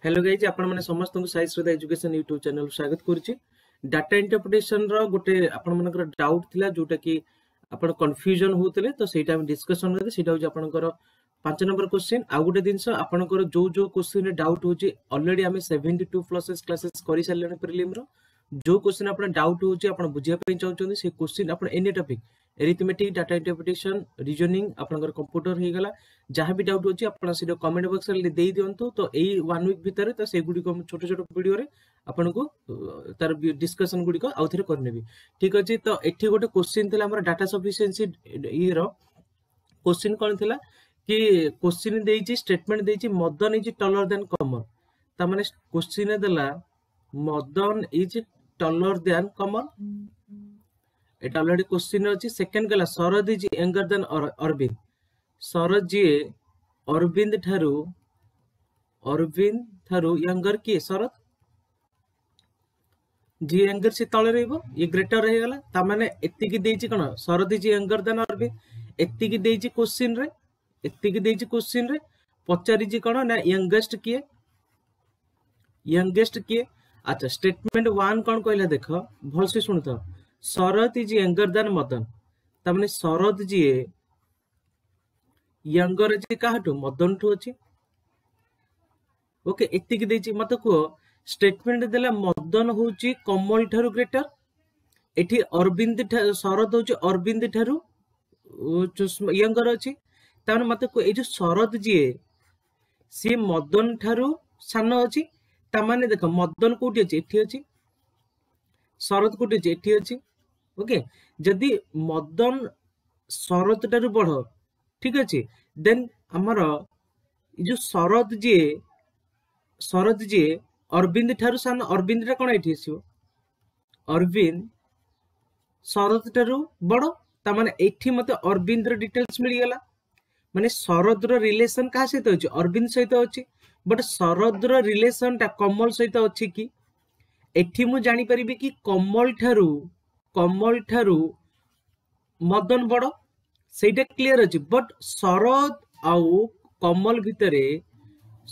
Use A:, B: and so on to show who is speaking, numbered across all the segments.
A: Hello guys, ଆପଣମାନେ ସମସ୍ତଙ୍କୁ ସାଇ ଶ୍ରଦ୍ଧା education YouTube channel ସ୍ୱାଗତ କରୁଛି। ଡାଟା ଇଣ୍ଟରପ୍ରିଟେସନ ର ଗୋଟେ ଆପଣମାନଙ୍କର ଡାଉଟ୍ ଥିଲା, ଯୋଉଟା କି ଆପଣ କନଫ୍ୟୁଜନ ହଉଥିଲେ, ତ ସେଇଟା ଆମେ ଡିସ୍କସନ କରିବେ। ସେଇଟା ହଉଛି ଆପଣଙ୍କର 5 ନମ୍ବର କ୍ୱେଶ୍ଚିନ୍। ଆଉ ଗୋଟେ ଜିନିଷ, ଆପଣଙ୍କର ଯୋଉ ଯୋଉ କ୍ୱେଶ୍ଚିନ୍ ଡାଉଟ୍ ହଉଛି, ଅଲରେଡି ଆମେ 72+ କ୍ଲାସେସ୍ କରିସାରିଲେଣି ପ୍ରିଲିମର। ଯୋଉ କ୍ୱେଶ୍ଚିନ୍ ଆପଣ ଡାଉଟ୍ ହଉଛି, ଆପଣ ବୁଝିବା ପାଇଁ ଚାହୁଁଛନ୍ତି, ସେ କ୍ୱେଶ୍ଚିନ୍ ଆପଣ any topic, arithmetic, data interpretation, reasoning, ଆପଣଙ୍କର କମ୍ପ୍ୟୁଟର ହେଇଗଲା, ଯାହା ବି ଡାଉଟ୍ ଅଛି ଆପଣ ସେଇଟା କମେଣ୍ଟ ବକ୍ସରେ ଦେଇ ଦିଅନ୍ତୁ। ତ ଏଇ ୱାନ୍ ୱିକ୍ ଭିତରେ ତ ସେଗୁଡ଼ିକ ମୁଁ ଛୋଟ ଛୋଟ ଭିଡ଼ିଓରେ ଆପଣଙ୍କୁ ତାର ଡିସ୍କସନ ଗୁଡ଼ିକ ଆଉ ଥରେ କରିନେବି। ଠିକ ଅଛି। ତ ଏଠି ଗୋଟେ କ୍ୱେଶ୍ଚିନ୍ ଥିଲା ଆମର ଡାଟା ସଫିସିଏନ୍ସି ଇଏର। କ୍ୱେଶ୍ଚିନ୍ କଣ ଥିଲା କି କ୍ୱେଶ୍ଚିନ୍ ଦେଇଛି, ଷ୍ଟେଟମେଣ୍ଟ ଦେଇଛି "Madan is taller than Kamal"। ତାମାନେ କ୍ୱେଶ୍ଚିନ୍ ଦେଲା "Madan is taller than Kamal", ଏଟା ଅଲରେଡି କ୍ୱେଶ୍ଚିନ୍ ଅଛି। ସେକେଣ୍ଡ ଗଲା "Sharad is younger than Arvind"। Sharad ଯିଏ ଅରବିନ୍ଦ ଠାରୁ ୟଙ୍ଗର କିଏ? ଶରଦ। ଯିଏ ୟଙ୍ଗର ସେ ତଳେ ରହିବ, ଇଏ ଗ୍ରେଟର ହେଇଗଲା। ତାମାନେ ଏତିକି ଦେଇଛି କଣ? "Sharad is younger than Arvind", ଏତିକି ଦେଇଛି କ୍ୱେଶ୍ଚିନ୍ ରେ। ଏତିକି ଦେଇଛି କ୍ୱେଶ୍ଚିନ୍ ରେ, ପଚାରିଛି କଣ ନା ୟଙ୍ଗେଷ୍ଟ କିଏ, ୟଙ୍ଗେଷ୍ଟ କିଏ? ଆଚ୍ଛା, ଷ୍ଟେଟମେଣ୍ଟ ୱାନ୍ କଣ କହିଲା ଦେଖ, ଭଲସେ ଶୁଣୁଥାଅ। "Sharad is younger than Madan"। ତାମାନେ ଶରଦ ଯିଏ ୟଙ୍ଗର ଅଛି କାହାଠୁ? ମଦନ ଠୁ ଅଛି। ଓକେ, ଏତିକି ଦେଇଛି। ମତେ କୁହ, ଷ୍ଟେଟମେଣ୍ଟ ଦେଲା ମଦନ ହଉଛି କମଲ ଠାରୁ ଗ୍ରେଟର। ଏଠି ଅରବିନ୍ଦ, ଶରଦ ହଉଛି ଅରବିନ୍ଦ ଠାରୁ ୟଙ୍ଗର ଅଛି। ତାମାନେ ମତେ କୁହ, ଏଇ ଯୋଉ ଶରଦ ଯିଏ ସିଏ ମଦନ ଠାରୁ ସାନ ଅଛି। ତାମାନେ ଦେଖ, ମଦନ କୋଉଠି ଅଛି? ଏଠି ଅଛି। ଶରଦ କୋଉଠି ଅଛି? ଏଠି ଅଛି। ଓକେ, ଯଦି ମଦନ ଶରଦ ଠାରୁ ବଡ, ଠିକ ଅଛି, ଦେନ୍ ଆମର ଏଇ ଯୋଉ ଶରଦ ଯିଏ ଅରବିନ୍ଦ ଠାରୁ ସାନ, ଅରବିନ୍ଦ ଟା କଣ ଏଠି ଆସିବ? ଅରବିନ୍ଦ ଶରଦ ଠାରୁ ବଡ। ତାମାନେ ଏଠି ମତେ ଅରବିନ୍ଦର ଡିଟେଲ୍ସ ମିଳିଗଲା। ମାନେ ଶରଦର ରିଲେସନ କାହା ସହିତ ଅଛି? ଅରବିନ୍ଦ ସହିତ ଅଛି। ବଟ୍ ଶରଦର ରିଲେସନ ଟା କମଲ ସହିତ ଅଛି କି? ଏଠି ମୁଁ ଜାଣିପାରିବି କି କମଲ ଠାରୁ ମଦନ ବଡ, ସେଇଟା କ୍ଲିୟର ଅଛି। ବଟ୍ ଶରଦ ଆଉ କମଲ ଭିତରେ,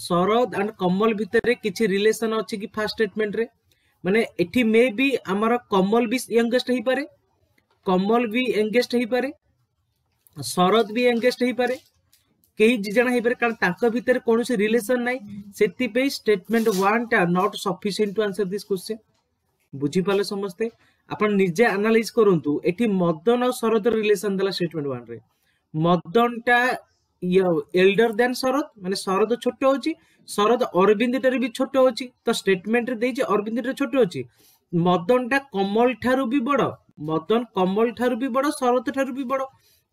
A: ଶରଦ ଆଣ୍ଡ କମଲ ଭିତରେ କିଛି ରିଲେସନ ଅଛି କି ଫାର୍ଷ୍ଟ ଷ୍ଟେଟମେଣ୍ଟରେ? ମାନେ ଏଠି ମେ ବି ଆମର କମଲ ବି ୟଙ୍ଗେଷ୍ଟ ହେଇପାରେ, କମଲ ବି ୟଙ୍ଗେଷ୍ଟ ହେଇପାରେ, ଶରଦ ବି ୟଙ୍ଗେଷ୍ଟ ହେଇପାରେ, କେହି ଦି ଜଣ ହେଇପାରେ, କାରଣ ତାଙ୍କ ଭିତରେ କୌଣସି ରିଲେସନ ନାହିଁ। ସେଥିପାଇଁ ଷ୍ଟେଟମେଣ୍ଟ ୱାନ୍ ଟା not sufficient to answer this question। ବୁଝିପାରିଲେ ସମସ୍ତେ? ଆପଣ ନିଜେ ଆନାଲାଇଜ କରନ୍ତୁ। ଏଠି ମଦନ ଆଉ ଶରଦର ରିଲେସନ ଦେଲା ଷ୍ଟେଟମେଣ୍ଟ ୱାନ୍ ରେ। ମଦନ ଟା ଏଲ୍ଡର ଦ୍ୟାନ୍ ଶରଦ, ମାନେ ଶରଦ ଛୋଟ ଅଛି। ଶରଦ ଅରବିନ୍ଦ ଠାରୁ ବି ଛୋଟ ଅଛି। ତ ଷ୍ଟେଟମେଣ୍ଟରେ ଦେଇଛି ଅରବିନ୍ଦ ଠାରୁ ଛୋଟ ଅଛି। ମଦନ ଟା କମଲ ଠାରୁ ବି ବଡ, ମଦନ କମଲ ଠାରୁ ବି ବଡ, ଶରଦ ଠାରୁ ବି ବଡ।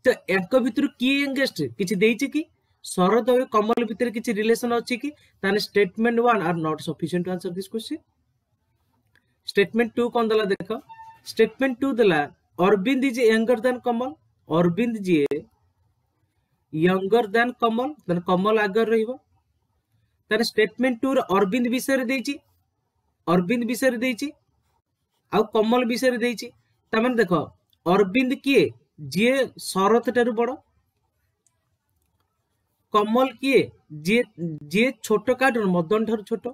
A: ତ ୟାଙ୍କ ଭିତରୁ କିଏ ୟଙ୍ଗେଷ୍ଟ କିଛି ଦେଇଛି କି? ଶରଦ ଆଉ କମଲ ଭିତରେ କିଛି ରିଲେସନ ଅଛି କି? ତାହେଲେ statement one are not sufficient to answer this question। Statement two କଣ ଦେଲା ଦେଖ। ଷ୍ଟେଟମେଣ୍ଟ ଟୁ ଦେଲା "Arvind is younger than Kamal"। Arvind ଯିଏ ୟଙ୍ଗର ଦ୍ୟାନ୍ କମଲ, ତାହେଲେ କମଲ ଆଗରେ ରହିବ। ତାହେଲେ ଷ୍ଟେଟମେଣ୍ଟ ଟୁ ରେ ଅରବିନ୍ଦ ବିଷୟରେ ଦେଇଛି, ଅରବିନ୍ଦ ବିଷୟରେ ଦେଇଛି ଆଉ କମଲ ବିଷୟରେ ଦେଇଛି। ତାମାନେ ଦେଖ, ଅରବିନ୍ଦ କିଏ? ଯିଏ ଶରତ ଠାରୁ ବଡ। କମଲ କିଏ? ଯିଏ ଛୋଟ କାହାଠାରୁ? ମଦନ ଠାରୁ ଛୋଟ।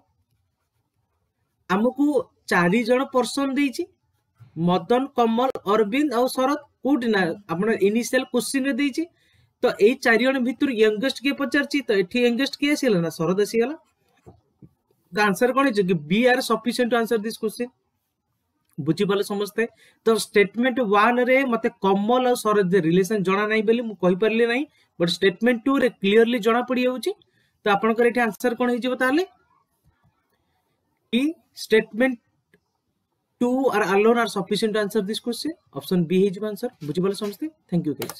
A: ଆମକୁ ଚାରି ଜଣ ପର୍ସନ ଦେଇଛି, ମଦନ, କମଲ, ଅରବିନ୍ଦ ଆଉ ଶରଦ। କୋଉଠି ନା ଆପଣ ଇନିସିଆଲ କ୍ୱେଶ୍ଚିନ୍ ରେ ଦେଇଛି। ତ ଏଇ ଚାରି ଜଣ ଭିତରୁ ୟଙ୍ଗେଷ୍ଟ କିଏ ପଚାରିଛି। ତ ଏଠି ୟଙ୍ଗେଷ୍ଟ କିଏ ଆସିଗଲା ନା ଶରଦ ଆସିଗଲା। ତ ଆନ୍ସର କଣ ହେଇଛି କି B are sufficient to answer this question। ବୁଝିପାରିଲେ ସମସ୍ତେ? ତ ଷ୍ଟେଟମେଣ୍ଟ ୱାନ୍ ରେ ମତେ କମଲ ଆଉ ଶରଦ ରିଲେସନ ଜଣା ନାହିଁ ବୋଲି ମୁଁ କହିପାରିଲି ନାହିଁ। ବଟ୍ ଷ୍ଟେଟମେଣ୍ଟ ଟୁ ରେ କ୍ଲିୟରଲି ଜଣା ପଡିଯାଉଛି। ତ ଆପଣଙ୍କର ଏଠି ଆନ୍ସର କଣ ହେଇଯିବ ତାହେଲେ କି statement two are alone are sufficient to answer this question। Option B ହେଇଯିବ ଆନ୍ସର। ବୁଝିପାରିଲେ ସମସ୍ତେ? Thank you guys.